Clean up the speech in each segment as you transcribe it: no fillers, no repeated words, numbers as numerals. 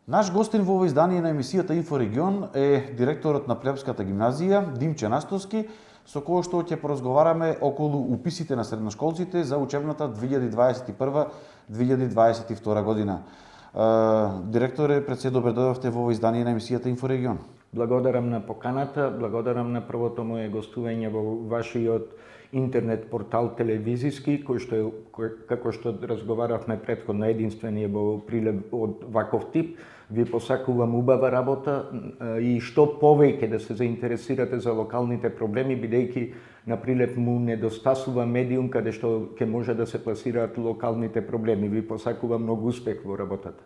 Наш гостин во ова издание на емисијата Инфорегион е директорот на Плебската гимназија Димче Настоски, со кој што ќе поразговараме околу уписите на средношколците за учебната 2021-2022 година. Директоре, пред се добре дојдовте во ова издание на емисијата Инфорегион. Благодарам на поканата, благодарам на првото мое гостување во вашиот интернет портал телевизиски, како што разговаравме претходно, единствениот во Прилеп од ваков тип. Ви посакувам убава работа и што повеќе да се заинтересирате за локалните проблеми, бидејќи на Прилеп му недостасува медиум каде што ќе може да се пласираат локалните проблеми. Ви посакувам многу успех во работата.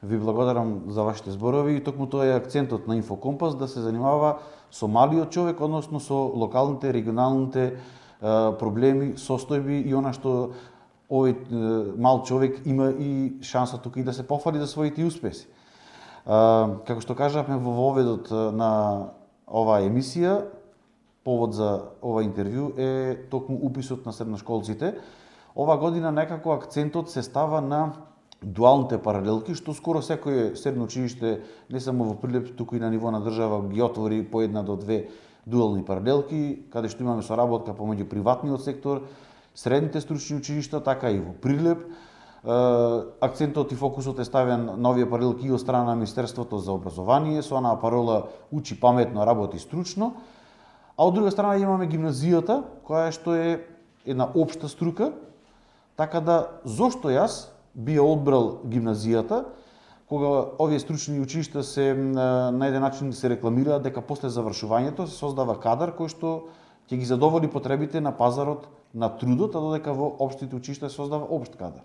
Ви благодарам за вашите зборови и токму тоа е акцентот на Инфокомпас, да се занимава со малиот човек, односно со локалните, регионалните проблеми, состојби и она што овој мал човек има и шанса тука и да се пофали за своите успеси. Како што кажавме во воведот на оваа емисија, повод за ова интервју е токму уписот на средношколците. Ова година некако акцентот се става на дуалните паралелки, што скоро секој средно училиште, не само во Прилеп, туку и на ниво на држава, ги отвори по една до две дуални паралелки, каде што имаме соработка помеѓу приватниот сектор, средните стручни училишта, така и во Прилеп. Акцентот и фокусот е ставен на овие паралелки и од страна на Министерството за образование, со онаа парола учи паметно, работи стручно. А од друга страна имаме гимназијата, која што е една општа струка, така да зошто јас би одбрал гимназијата, кога овие стручни училишта се на еден начин се рекламираат дека после завршувањето се создава кадар кој што ќе ги задоволи потребите на пазарот на трудот, а додека во општите училишта се создава општ кадар.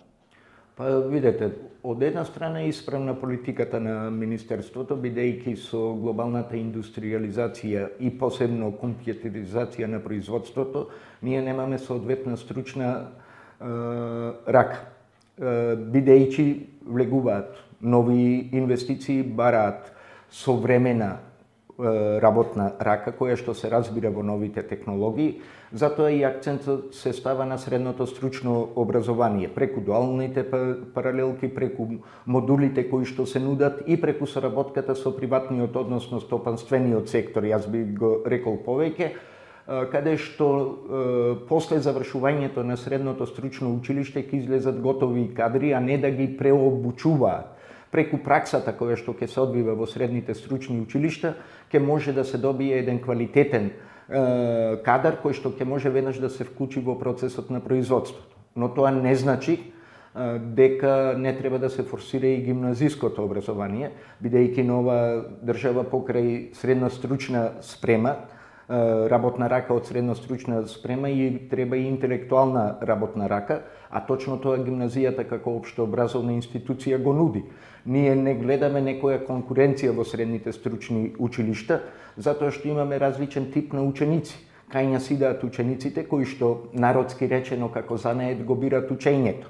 Па видете, од една страна е исправна политиката на Министерството, бидејќи со глобалната индустриализација и посебно компјутеризација на производството, ние немаме соодветна стручна рака. Бидејќи влегуваат нови инвестиции, бараат современа работна рака, која што се разбира во новите технологии, затоа и акцентот се става на средното стручно образование, преку дуалните паралелки, преку модулите кои што се нудат и преку соработката со приватниот, односно стопанствениот сектор, јас би го рекол повеќе, каде што после завршувањето на средното стручно училиште ќе излезат готови кадри, а не да ги преобучуваат. Преку праксата која што ќе се одвива во средните стручни училишта, ќе може да се добие еден квалитетен кадар кој што ќе може веднаш да се вклучи во процесот на производството. Но тоа не значи дека не треба да се форсира и гимназиското образование, бидејќи нова држава покрај средна стручна спрема, работна рака од средно стручна спрема и треба и интелектуална работна рака, а точно тоа гимназијата како општообразовна институција го нуди. Ние не гледаме некоја конкуренција во средните стручни училишта, затоа што имаме различен тип на ученици. Кај нас идеат учениците кои што народски речено како занает го бират учењето.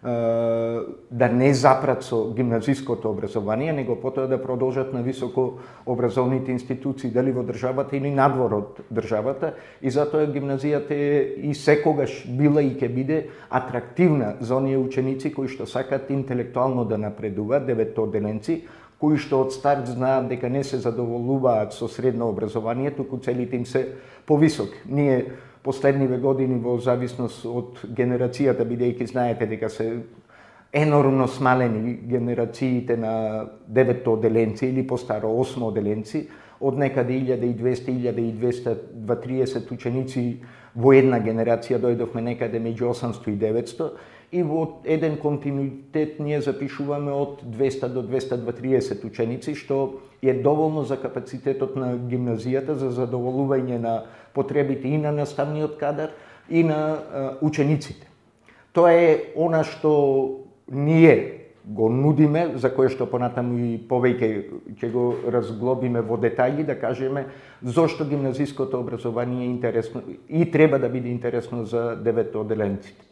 Да не запрат со гимназиското образование, него потоа да продолжат на високо образовните институции, дали во државата или надвор од државата, и затоа гимназијата е и секогаш била и ќе биде атрактивна за оние ученици кои што сакаат интелектуално да напредуваат, деветоделенци, кои што од старт знаат дека не се задоволуваат со средно образование, туку целите им се повисоки. Ние последниве години во зависност од генерацијата, бидејќи знаете дека се енормно смалени генерациите на деветоделенци или постаро осмооделенци, од некаде 1200-1230 ученици во една генерација дојдовме некаде меѓу 800 и 900 и во еден континуитет ние запишуваме од 200 до 230 ученици, што е доволно за капацитетот на гимназијата за задоволување на потребите и на наставниот кадар и на учениците. Тоа е она што ние го нудиме, за кое што понатаму и повеќе ќе го разглобиме во детајли, да кажеме зошто гимназиското образование е интересно и треба да биде интересно за деветоделенците.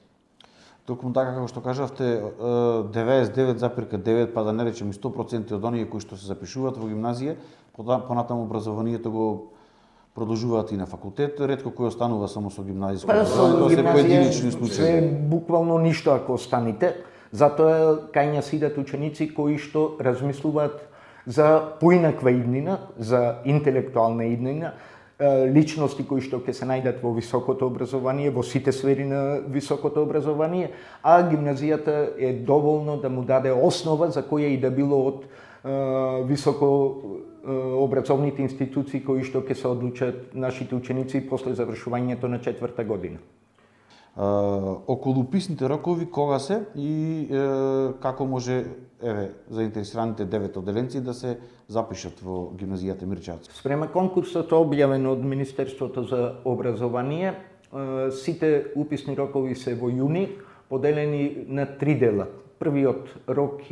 Токму така како што кажавте, 99,9, па да не речем 100% од оние кои што се запишуваат во гимназија, понатаму образованието го продолжуваат и на факултет, ретко кој останува само со гимназиско образование, тоа се поединечни случаи. Буквално ништо ако останете, Затоа кај нас идат ученици кои што размислуваат за поинаква иднина, за интелектуална иднина, личности кои што ќе се најдат во високото образование, во сите сфери на високото образование, а гимназијата е доволно да му даде основа за која и да било од високо образовните институции кои што ќе се одлучат нашите ученици после завршувањето на 4-та година. Околу уписните рокови кога се и како може заинтересираните 9 одделенци да се запишат во гимназијата Мирчевци? Спрема конкурсот објавен од Министерството за образование, сите уписни рокови се во јуни, поделени на 3 дела. Првиот рок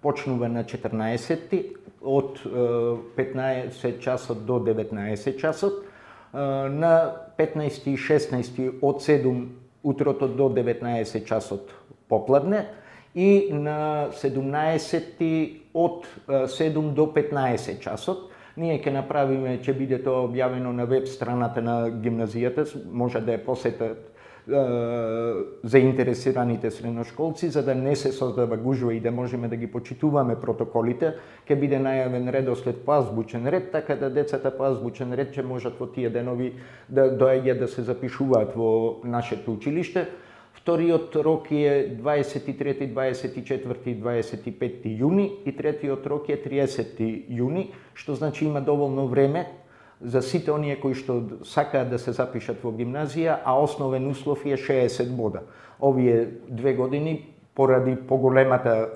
почнува на 14-ти, од 15 часот до 19 часот, на 15 и 16 од 7 утрото до 19 часот попладне и на 17 од 7 до 15 часот. Ние ќе направиме, ќе биде тоа објавено на веб страната на гимназијата, може да ја посетат заинтересираните средношколци, за да не се создава гужва и да можеме да ги почитуваме протоколите, ќе биде најавен редослед по азбучен ред, така да децата по азбучен ред ќе можат во тие денови да доаѓаат да се запишуваат во нашето училиште. Вториот рок е 23, 24 и 25 јуни и третиот рок е 30 јуни, што значи има доволно време за сите оние кои што сакаат да се запишат во гимназија, а основен услов е 60 бода. Овие 2 години, поради поголемата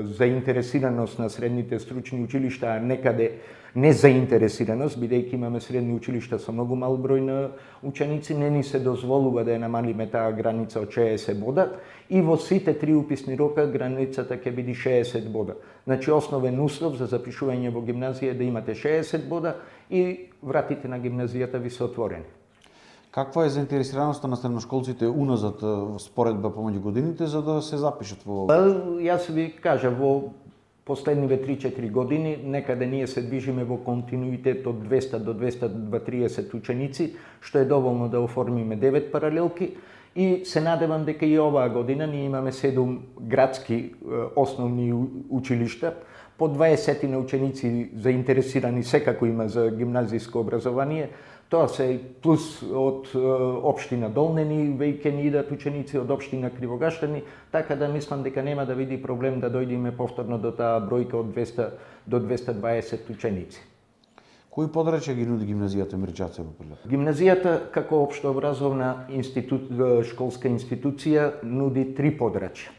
заинтересираност на средните стручни училишта, а некаде незаинтересираност, бидејќи имаме средни училишта со многу мал број на ученици, не ни се дозволува да ја намалиме таа граница од 60 бода и во сите 3 уписни рока границата ќе биде 60 бода. Значи основен услов за запишување во гимназија е да имате 60 бода и вратите на гимназијата ви се отворени. Каква е заинтересираноста на средношколците уназад споредба помеѓу годините за да се запишат во? Јас ви кажа, во последниве 3-4 години некаде ние се движиме во континуитет од 200 до 230 ученици, што е доволно да оформиме 9 паралелки и се надевам дека и оваа година ние имаме 7 градски основни училишта, по 20 на ученици заинтересирани секако има за гимназиско образование. Тоа се плюс од општина Долнени, веќе ни идат ученици од општина Кривогаштани, така да мислам дека нема да види проблем да дојдеме повторно до таа бројка од 200 до 220 ученици. Кои подрачја ги нуди гимназијата Мирчевци во Прилеп? Гимназијата како општообразовна школска институција нуди 3 подрачја.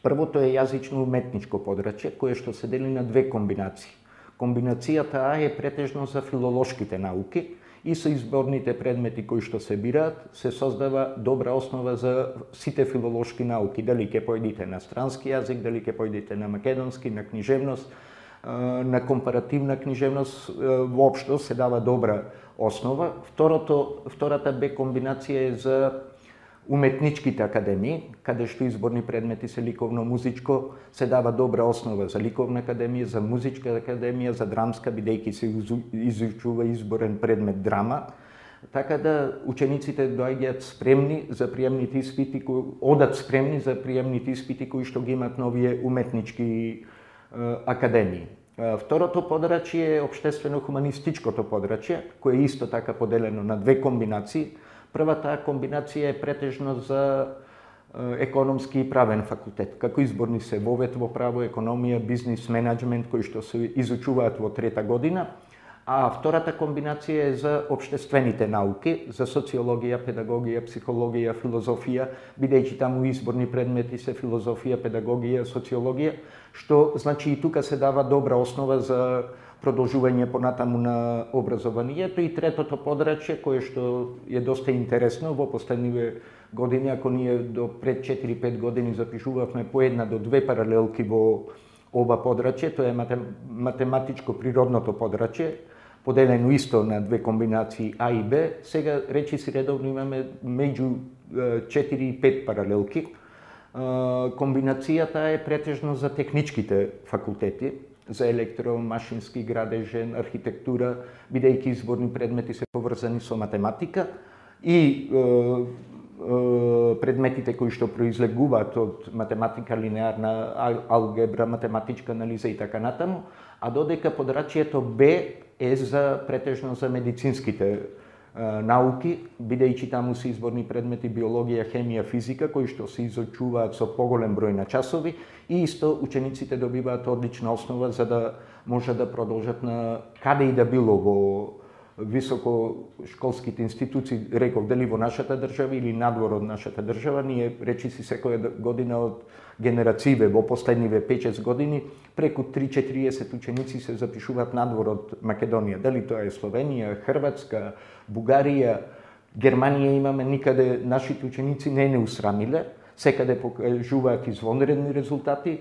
Првото е јазично-уметничко подрачје, кое што се дели на 2 комбинации. Комбинацијата А е претежно за филолошките науки и со изборните предмети кои што се бираат, се создава добра основа за сите филолошки науки, дали ќе појдите на странски јазик, дали ќе појдите на македонски, на книжевност, на компаративна книжевност, воопшто се дава добра основа. Втората Б комбинација е за уметничките академии, каде што изборни предмети се ликовно-музичко, се дава добра основа за ликовна академија, за музичка академија, за драмска, бидејќи се изучува изборен предмет драма. Така да учениците доаѓаат спремни за приемните испити, одат спремни за приемните испити кои што ги имаат новие уметнички академии. Второто подрачје е општествено-хуманистичкото подрачје, кое е исто така поделено на 2 комбинации. Првата комбинација е претежно за економски и правен факултет. Како изборни се вовет во право, економија, бизнис, менеджмент, кои што се изучуваат во 3-та година, а втората комбинација е за општествените науки, за социологија, педагогија, психологија, филозофија, бидејќи таму изборни предмети се филозофија, педагогија, социологија, што значи и тука се дава добра основа за продолжување понатаму на образованието. И третото подрачје, кое што е доста интересно, во последниве години, ако ние до пред 4-5 години запишувавме по 1 до 2 паралелки во ова подрачје, тоа е математичко-природното подрачје, поделено исто на 2 комбинации А и Б, сега речиси редовно имаме меѓу 4 и 5 паралелки. Комбинацијата е претежно за техничките факултети, за електромашински, градежен, архитектура, бидејќи изборни предмети се поврзани со математика и предметите кои што произлегуваат од математика, линеарна алгебра, математичка анализа и така натаму, а додека подрачјето Б е за претежно за медицинските науки, бидејќи таму се изборни предмети биологија, хемија, физика, кои што се изучуваат со поголем број на часови и исто учениците добиваат одлична основа за да може да продолжат на каде и да било во високошколските институции, реков, дали во нашата држава или надвор од нашата држава. Ние речиси секоја година од генерацииве во последниве 5-6 години преку 3-40 ученици се запишуваат надвор од Македонија. Дали тоа е Словенија, Хрватска, Бугарија, Германија имаме, никаде нашите ученици не усрамиле, секаде покажуваат извонредни резултати,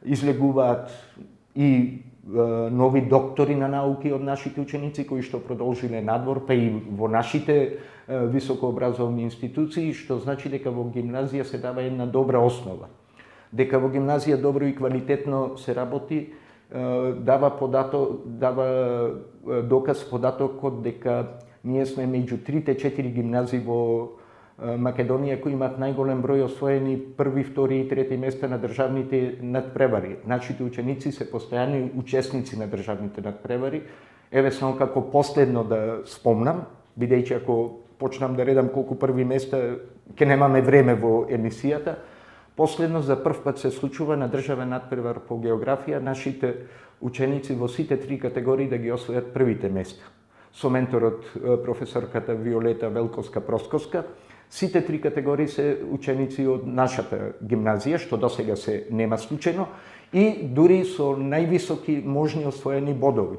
излегуваат и нови доктори на науки од нашите ученици кои што продолжиле надвор, па и во нашите високообразовни институции, што значи дека во гимназија се дава една добра основа. Дека во гимназија добро и квалитетно се работи, дава доказ податокот дека ние сме меѓу 3-4 гимназии во Македонија кои имаат најголем број освоени први, втори и трети места на државните надпревари. Нашите ученици се постојани учесници на државните надпревари. Еве само како последно да спомнам, бидејќи ако почнам да редам колку први места, ќе немаме време во емисијата. Последно за прв пат се случува на државен надпревар по географија нашите ученици во сите три категории да ги освојат првите места. Со менторот професорката Виолета Велковска-Просковска. Сите три категории се ученици од нашата гимназија, што досега се нема случајно, и дури со највисоки можни освоени бодови.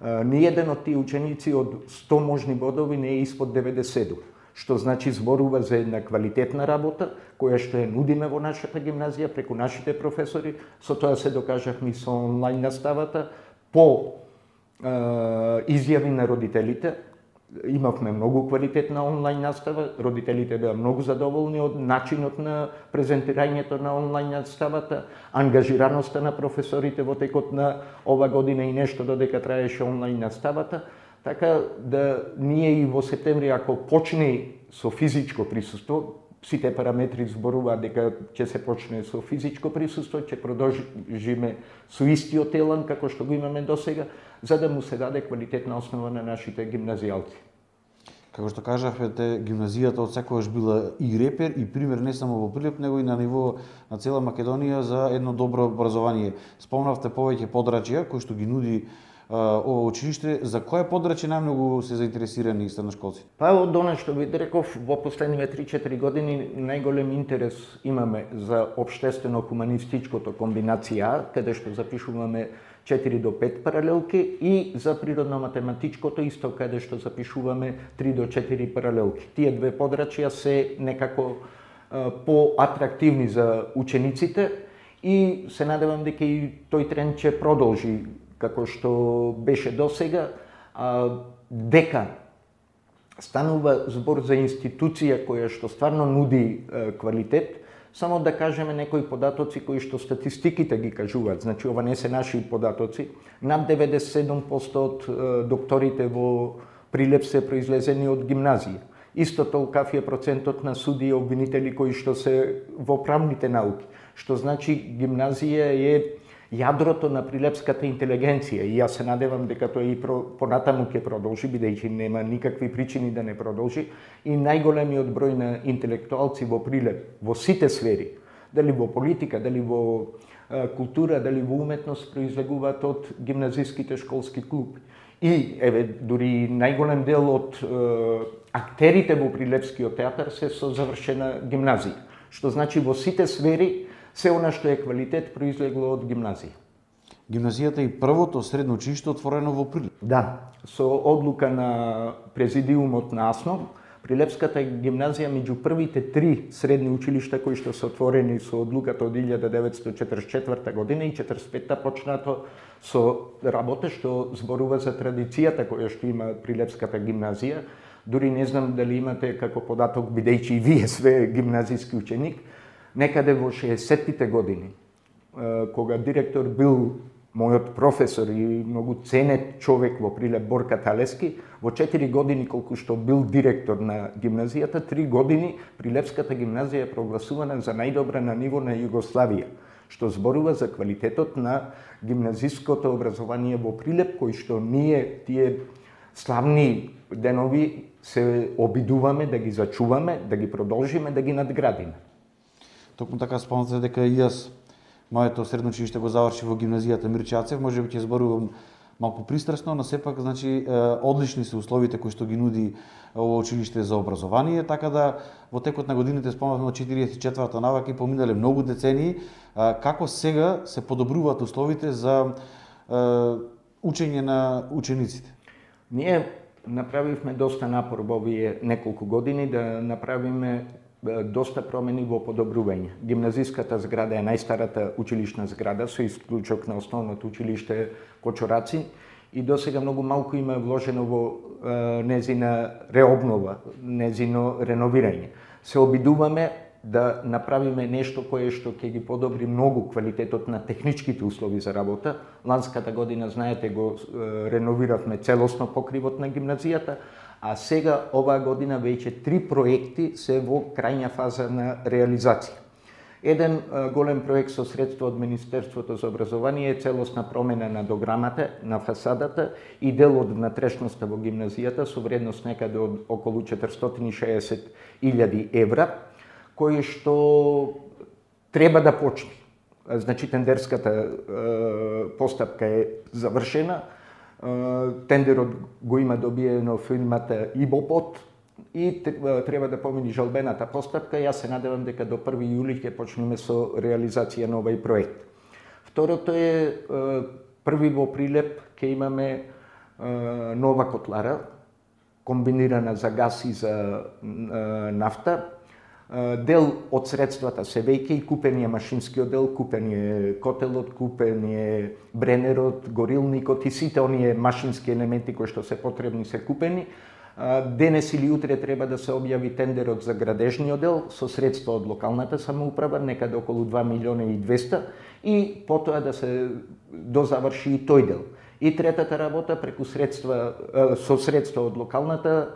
Ниеден од тие ученици од 100 можни бодови не е испод 90, што значи зборува за една квалитетна работа, која што ја нудиме во нашата гимназија преку нашите професори. Со тоа се докажавме со онлайн наставата, по изјави на родителите. Имавме многу квалитетна онлайн настава, родителите беа многу задоволни од начинот на презентирањето на онлайн наставата, ангажираноста на професорите во текот на ова година и нешто додека траеше онлайн наставата, така да ние и во септември, ако почне со физичко присуство, сите параметри зборуваат дека ќе се почне со физичко присуство, ќе продолжиме со истиот елан како што го имаме досега, за да му се даде квалитетна основа на нашите гимназијалци. Како што кажавте, гимназијата од секогаш била и репер и пример не само во Прилеп, него и на ниво на цела Македонија за едно добро образование. Спомнавте повеќе подрачја кои што ги нуди ова училиште. За кое подрачје најмногу се заинтересирани средношколци? Па од она што ви реков, во последниве 3-4 години најголем интерес имаме за општествено-хуманистичкото комбинација А, каде што запишуваме 4 до 5 паралелки, и за природно-математичкото исто, каде што запишуваме 3 до 4 паралелки. Тие две подрачја се некако поатрактивни за учениците и се надевам дека и тој тренд ќе продолжи како што беше досега, дека станува збор за институција која што стварно нуди квалитет. Само да кажеме некои податоци кои што статистиките ги кажуваат, значи ова не се наши податоци. Над 97% од докторите во Прилеп се произлезени од гимназија. Исто толкав е процентот на суди и обвинители кои што се во правните науки, што значи гимназија е јадрото на прилепската интелигенција, и јас се надевам дека тоа и понатаму ќе продолжи, бидејќи нема никакви причини да не продолжи, и најголемиот број на интелектуалци во Прилеп, во сите сфери, дали во политика, дали во култура, дали во уметност, произлегуваат од гимназиските школски клуби. И, еве, дури најголем дел од актерите во Прилепскиот театар се со завршена гимназија, што значи во сите сфери се она што е квалитет произлегло од гимназија. Гимназијата е првото средно училиште отворено во Прилеп. Да, со одлука на президиумот на АСНО, Прилепската гимназија меѓу првите 3 средни училишта кои што се отворени со одлуката од 1944 година и 45-та почнато со работа што зборува за традицијата која што има Прилепската гимназија. Дури не знам дали имате како податок, бидејќи и вие све гимназиски ученик, некаде во 60-тите години, кога директор бил мојот професор и многу ценет човек во Прилеп Борка Талески, во 4 години колку што бил директор на гимназијата, 3 години Прилепската гимназија е прогласувана за најдобра на ниво на Југославија, што зборува за квалитетот на гимназиското образование во Прилеп, кој што ние тие славни денови се обидуваме да ги зачуваме, да ги продолжиме, да ги надградиме. Токму така спомнате дека и јас моето средно училиште го заврши во гимназијата Мирче Ацев, можеби ќе зборувам малку пристрасно, но сепак значи одлични се условите кои што ги нуди ово училиште за образование, така да во текот на годините спомнавме од 44-та навака и поминале многу децении, како сега се подобруваат условите за учење на учениците. Ние направивме доста напор во овие неколку години да направиме доста промени во подобрување. Гимназиската зграда е најстарата училишна зграда, со исклучок на основното училиште Кочораци, и досега многу малку има вложено во незина реобнова, незино реновирање. Се обидуваме да направиме нешто кое што ќе ги подобри многу квалитетот на техничките услови за работа. Ланската година, знаете, го реновиравме целосно покривот на гимназијата, а сега оваа година веќе 3 проекти се во крајна фаза на реализација. Еден голем проект со средства од Министерството за образование е целосна промена на дограмата, на фасадата и дел од внатрешноста во гимназијата со вредност некаде од околу 460.000 евра, кој што треба да почне. Значи, тендерската постапка е завршена, тендерот го има добиено фирмата Ибопот и треба да помини жалбената постапка. Јас се надевам дека до 1 јули ќе почнеме со реализација на овој проект. Второто е, први во Прилеп ќе имаме нова котлара, комбинирана за газ и за нафта. Дел од средствата се веќе и купен е машинскиот дел, купен е котелот, купен е бренерот, горилникот и сите оние машински елементи кои што се потребни се купени. Денес или утре треба да се објави тендерот за градежниот дел со средства од локалната самоуправа, некаде околу 2.200.000 и потоа да се дозаврши и тој дел. И третата работа преку средства со средства од локалната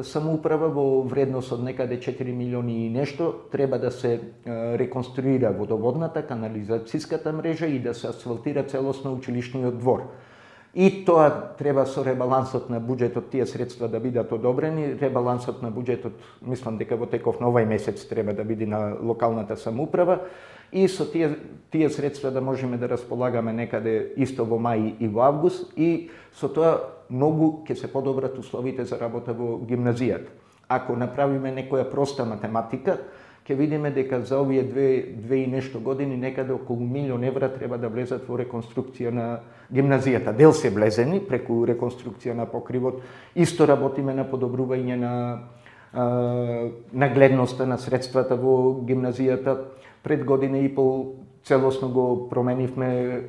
самоуправа во вредност од некаде 4 милиони и нешто треба да се реконструира водоводната, канализацијската мрежа и да се асфалтира целосно училишниот двор. И тоа треба со ребалансот на буџетот тие средства да бидат одобрени. Ребалансот на буџетот, мислам дека во теков на овај месец треба да биде на локалната самоуправа и со тие средства да можеме да располагаме некаде исто во мај и во август и со тоа многу ќе се подобрат условите за работа во гимназијата. Ако направиме некоја проста математика, ќе видиме дека за овие две и нешто години некаде околу 1 милион евра треба да влезат во реконструкција на гимназијата. Дел се влезени преку реконструкција на покривот, исто работиме на подобрување на гледноста на средствата во гимназијата. Пред година и пол целосно го променивме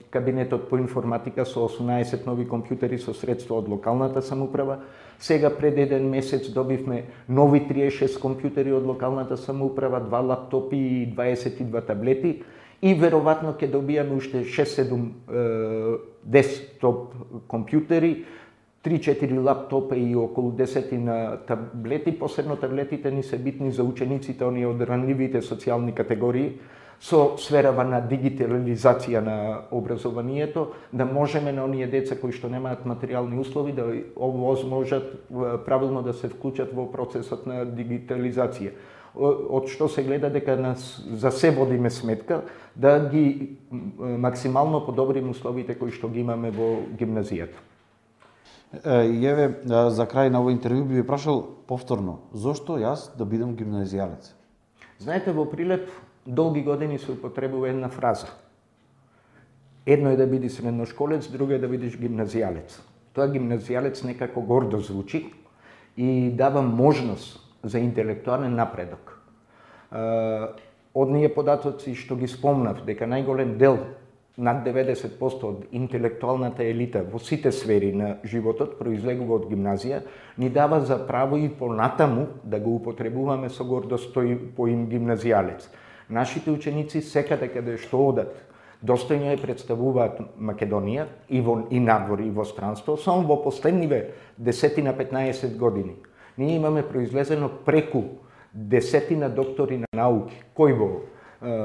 кабинетот по информатика со 18 нови компјутери со средства од локалната самоуправа. Сега пред еден месец добивме нови 36 компјутери од локалната самоуправа, 2 лаптопи и 22 таблети и веројатно ќе добијаме уште 6-7 десктоп компјутери, 3-4 лаптопа и околу 10 на таблети. Посебно таблетите ни се битни за учениците, оние од ранливите социјални категории, со сферава на дигитализација на образованието, да можеме на оние деца кои што немаат материјални услови да овозможат правилно да се вклучат во процесот на дигитализација. Од што се гледа дека за се водиме сметка да ги максимално подобриме условите кои што ги имаме во гимназијата. Еве, за крај на овој интервју би ви прашал повторно, зошто јас да бидам гимназијалец? Знаете, во Прилеп долги години се употребува една фраза. Едно е да бидеш средношколец, друго е да бидеш гимназијалец. Тоа гимназијалец некако гордо звучи и дава можност за интелектуален напредок. Од ние податоци што ги спомнав, дека најголем дел, над 90% од интелектуалната елита во сите сфери на животот произлегува од гимназија, ни дава за право и понатаму да го употребуваме со гордост тој поим гимназијалец. Нашите ученици секаде каде што одат, достојно ја представуваат Македонија и надвор и во странство, само во последниве 10-15 години. Ние имаме произлезено преку 10 доктори на науки, кој во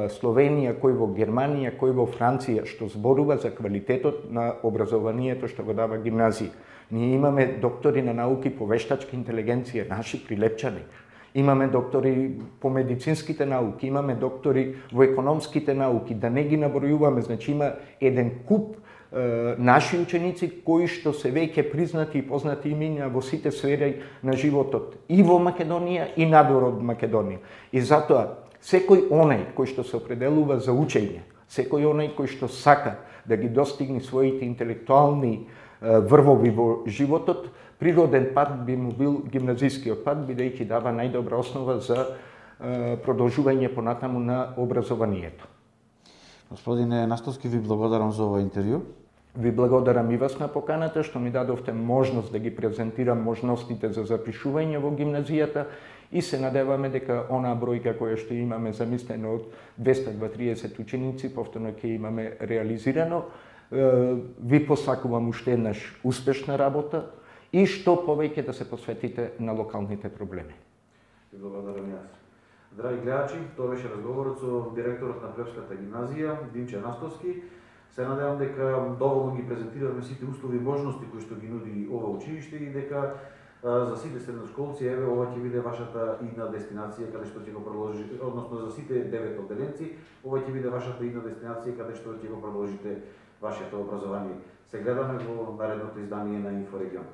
Словенија, кој во Германија, кој во Франција, што зборува за квалитетот на образованието што го дава гимназија. Ние имаме доктори на науки по вештачка интелигенција, наши прилепчани. Имаме доктори по медицинските науки, имаме доктори во економските науки, да не ги набројуваме, значи има еден куп наши ученици кои што се веќе признати и познати имиња во сите сфери на животот и во Македонија и надвор од Македонија. И затоа секој онај кој што се определува за учење, секој онај кој што сака да ги достигне своите интелектуални врвови во животот, природен пат би му бил гимназискиот пат, бидејќи дава најдобра основа за продолжување понатаму на образованието. Господине Настовски, ви благодарам за ова интервју. Ви благодарам и вас на поканата, што ми дадовте можност да ги презентирам можностите за запишување во гимназијата и се надеваме дека онаа бројка која што имаме замислено од 230 ученици, повторно ќе имаме реализирано. Ви посакувам уште еднаш успешна работа и што повеќе да се посветите на локалните проблеми. Ви благодарам јас. Драги гледачи, тоа беше разговорот со директорот на Плевската гимназија, Димче Настовски. Се надевам дека доволно ги презентираме сите услови и можности кои што ги нуди ова училиште и дека за сите средношколци, еве, ова ќе биде вашата идна дестинација каде што ќе го продолжите, односно за сите 9 одделенци, ова ќе биде вашата идна дестинација каде што ќе го продолжите вашето образование. Се гледаме во наредното издание на Инфорегион.